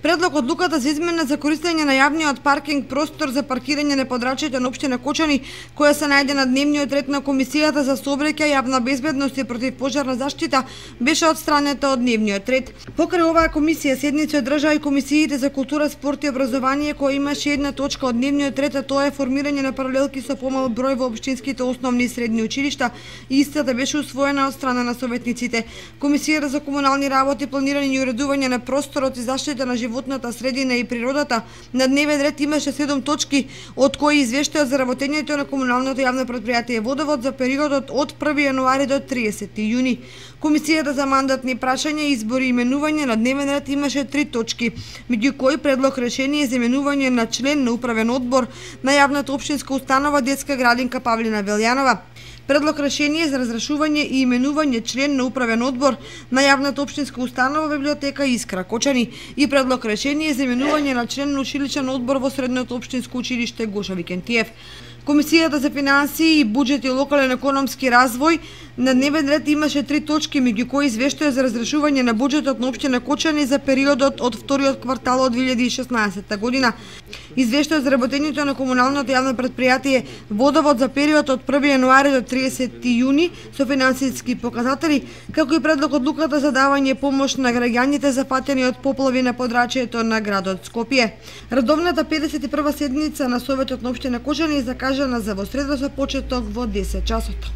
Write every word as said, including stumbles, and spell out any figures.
Предлог одлуката за измена за користење на јавниот паркинг простор за паркирање на подрачјето на општина Кочани, која се најде на дневниот ред на Комисијата за сообраќај, јавна безбедност и противпожарна заштита, беше отстранета од дневниот ред. Покрај оваа комисија седници одржаа и комисиите за култура, спорт и образование, која имаше една точка од дневниот ред, а тоа е формирање на паралелки со помал број во општинските основни и средни училишта, и истата беше усвоена од страна на советниците. Комисијата за комунални работи, планирање и уредување на просторот и заштита на животната средина и природата на дневен ред имаше седум точки, од кои извештајот за работењето на комуналното јавно предпријатие Водовод за периодот од први јануари до триесети јуни. Комисијата за мандатни прашања, избори и именување на дневен ред имаше три точки, меѓу кои предлог решение за именување на член на управен одбор на јавната општинска установа Детска градинка Павлина Велјанова, предлог решение за разрешување и именување член на управен одбор на јавната општинска установа Библиотека Искра Кочани и предлог решение за именување на член на училичен одбор во средното општинско училиште Гоша Викентиев. Комисијата за финансии и буџет и локален економски развој на дневен ред имаше три точки, меѓу кои извештај за разрешување на буџетот на општина Кочани за периодот од вториот квартал од две илјади и шеснаесетта година, извештај за работењето на комуналното јавно предпријатие Водовод за период од први јануари до триесети јуни со финансиски показатели, како и предлог одлуката за давање помош на граѓаните зафатени од поплави на подрачјето на градот Скопје. Редовната педесет и прва седница на Советот на општина Кочани е закажана за во среда со почеток во десет часот.